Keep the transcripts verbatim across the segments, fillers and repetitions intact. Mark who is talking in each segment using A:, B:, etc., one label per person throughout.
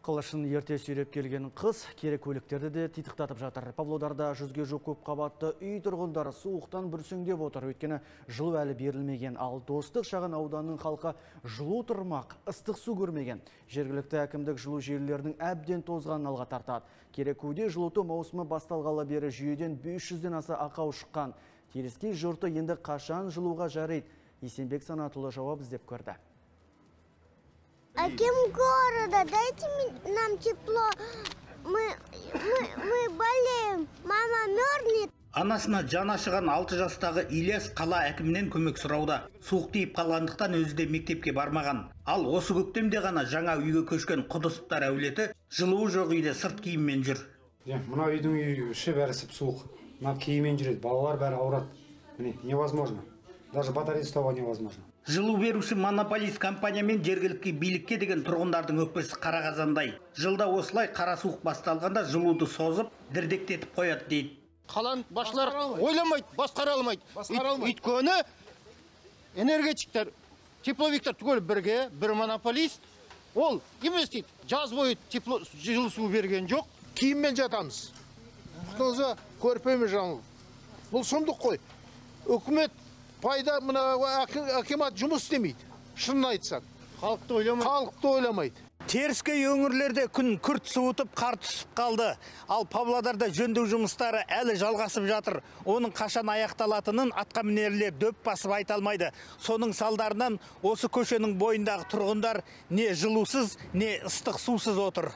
A: Қылышын ерте сүйреп келген қыз керек көліктерді де титықтатып жатыр. Павлодарда жүзге жоқ көп қабатты үй тұрғындары суықтан бүрсеңдеп отыр. Өйткені жылу әлі берілмеген, ал Достық шағын ауданның халқы жылу тұрмақ, ыстық су көрмеген. Жергілікті әкімдік жылу желілерінің әбден тозғанын алға тартады. Керекуде жылыту маусымы басталғалы бері жүйеден бес жүзден аса ақау шыққан. Теріскей жұрты енді қашан жылуға жарайды? Есенбек Санатұлы жауап іздеп көрді.
B: Аким города, дайте нам тепло, мы, мы, мы болеем, мама мерзнет.
C: Анасына жаны ашыған алты жастағы Ильяс қала әкімінен көмек сұрауда. Суық тиіп қалғандықтан өзі де мектепке бармаған. Ал осы көктемде ғана жаңа үйге көшкен құдысыптар әулеті жылуы жоқ үйде сырт киіммен жүр.
D: Мына үйдің іші бәрі суық. Мына киіммен жүреді, балалар бәрі ауырады. Міне, невозможно. Даже батарея ұстауға невозможно.
C: Жылу беруші монополист компания мен жергілікті билікке деген тұрғындардың өкпесі қара қазандай. Жылда осылай қара суық басталғанда жылуды созып, дірдектетіп қояды дейді.
E: Қалан басшылар ойламайды, басқара алмайды. Өйткені энергетиктер, тепловиктер түгел бірге, бір монополист, ол емес дейді. Жаз бойы тепло жылу су берген жоқ.
F: Киіммен жатамыз. Құтыңызға көрпеме жаңыл. Бұл сұмдық қой. Үкімет пайда мына акимат жұмыс істемейді. Шынын айтсақ.
E: Халықты ойламайды.
F: Халықты ойламайды.
C: Теріскей өңірлерде күн күрт суытып, қар түсіп қалды. Ал Павлодарда жөндеу жұмыстары әлі жалғасып жатыр. Оның қашан аяқталатынын атқамінерлер дөп басып айта алмайды. Соның салдарынан осы көшенің бойындағы тұрғындар не жылусыз, не ыстық сусыз отыр.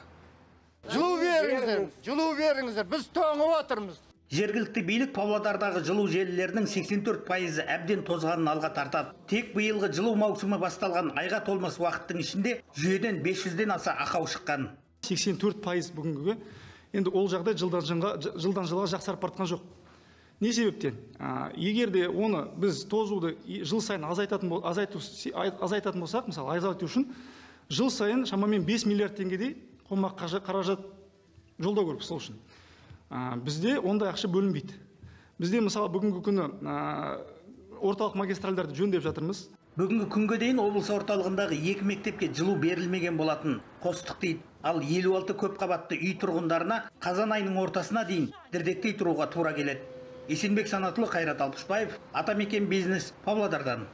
E: Жылу беріңіздер, жылу беріңіздер. Біз тоңып отырмыз.
C: Жергілікті билік Павлодардағы жылу желілерінің сексен төрт пайызы әбден тозғанын алға тартады. Тек биылғы жылу маусымы басталған айға толмас уақыттың ішінде жүйеден бес жүзден аса ақау шыққан.
G: сексен төрт пайыз бүгінгі. Енді ол жағдай жылдан жылға, жылдан жылға жақсарып бартқан жоқ. Не себептен? Егер де оны біз тозуды жыл сайын азайтатын азайту азайтатын болсақ, мысалы азайту үшін жыл сайын шамамен бес миллиард теңгедей қомақ қаражат жолдау керек сол үшін. Бізде ондай ақша бөлінбейді. Бізде мысалы бүгінгі күні орталық магистральдарды жөндеп жатырмыз.
C: Бүгінгі күнге дейін облыс орталығындағы екі мектепке жылу берілмеген болатын. Қостық дейді. Ал елу алты көп қабатты үй тұрғындарына қазан айының ортасына дейін дірдектей тұруға тура келеді. Есенбек Санатұлы, Қайрат Алпысбаев, Атамекен бизнес, Павлодардан.